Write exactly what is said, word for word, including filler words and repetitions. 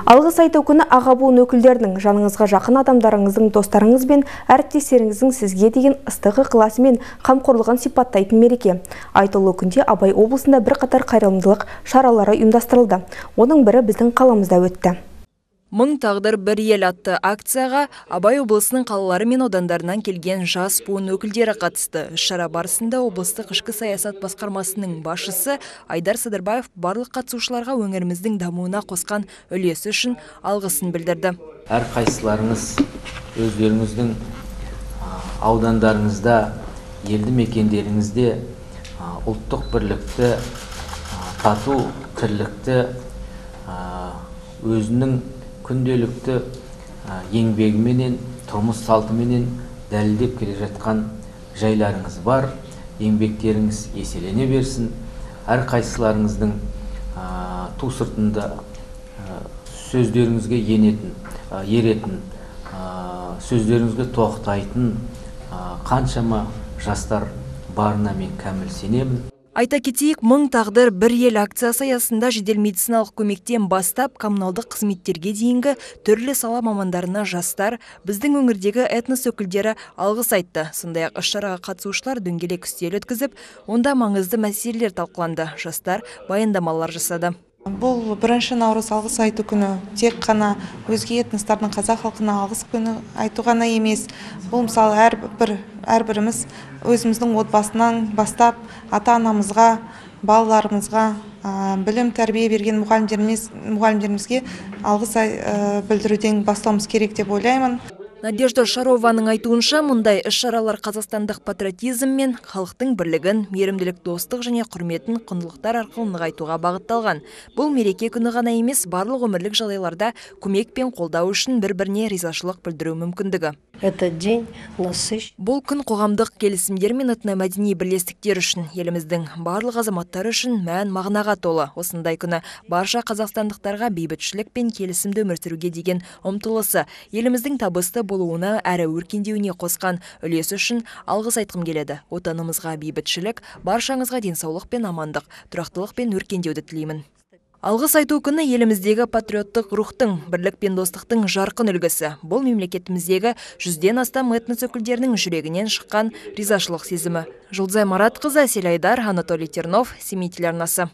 Алғыс айту күні аға буын өкілдерінің, жаныңызға жақын адамдарыңыздың, достарыңыз бен әріптестеріңіздің сізге деген ыстық ықыласы мен қамқорлығын сипаттайтын мереке. Айтулы күнде Абай облысында бірқатар қайырымдылық шаралары ұйымдастырылды. Оның бірі біздің қаламызда өтті. Мың тағдыр бір ел атты акцияға Абай облысының қалалары мен аудандарынан келген жас буын өкілдері қатысты. Шара барысында облыстық ішкі саясат басқармасының басшысы Айдар Садырбаев барлық қатысушыларға өңіріміздің дамуына қосқан үлесі үшін алғысын білдірді. Әр қайсыларыңыз өздеріңіздің аудандарыңызда, елді мекендеріңізде ұлттық бірлікті, тату тірлікті, өзінің күнделікті еңбегіменен, тұрмыс салтыменен дәлелдеп келе жатқан жайларыңыз бар. Еңбектеріңіз еселене берсін. Әр қайсыларыңыздың ту сыртында сөздеріңізге енетін, еретін, сөздеріңізге тоқтайтын қаншама жастар барына мен кәміл сенемін. Айта кетейік, мың тағдыр бір ел акциясы аясында жедел медициналық көмектен бастап коммуналдық қызметтерге дейінгі түрлі сала мамандарына жастар, біздің өңірдегі этнос өкілдері алғыс айтты. Сондай-ақ іс-шараға қатысушылар дөңгелек үстел өткізіп, онда маңызды мәселелер талқыланды. Жастар баяндамалар жасады. Бұл бірінші наурыз алғыс айту күні тек қана өзге этностардың қазақ халқына алғыс күні айту ғана емес. Бұл мысалы әрбір әрбіріміз өзіміздің отбасынан бастап ата-анамызға, балаларымызға, білім тәрбие берген мұғалімдеріміз, мұғалімдерімізге алғыс білдіруден бастауымыз керек деп ойлаймын. Надежда Шарованың айтуынша, мұндай іс-шаралар қазақстандық патриотизм мен халықтың бірлігін, мейірімділік, достық және құрметін құндылықтар арқылы нығайтуға бағытталған. Бұл мереке күні ғана емес, барлық өмірлік жағдайларда көмек пен қолдау үшін бір-біріне ризашылық білдіру мүмкіндігі. Бұл күн қоғамдық келісімдер мен этномәдени бірлестіктер үшін, еліміздің барлық азаматтары үшін мән мағынаға толы. Осындай күні барша қазақстандықтарға бейбітшілік пен келісімді өмір сүруге деген ұмтылысы, еліміздің табысты болуына әрі өркендеуіне қосқан үлесі үшін алғыс айтқым келеді. Отанымызға бейбітшілік, баршаңызға денсаулық пен амандық, тұрақтылық пен өркендеуді тілеймін. Алғыс айту күні еліміздегі патриоттық рухтың, бірлік пен достықтың жарқын үлгісі. Бұл мемлекетіміздегі жүзден астам этнос өкілдерінің жүрегінен шыққан ризашылық сезімі. Жұлдызай Маратқызы, Әсел Айдар, Анатолий Тернов, Семей телеарнасы.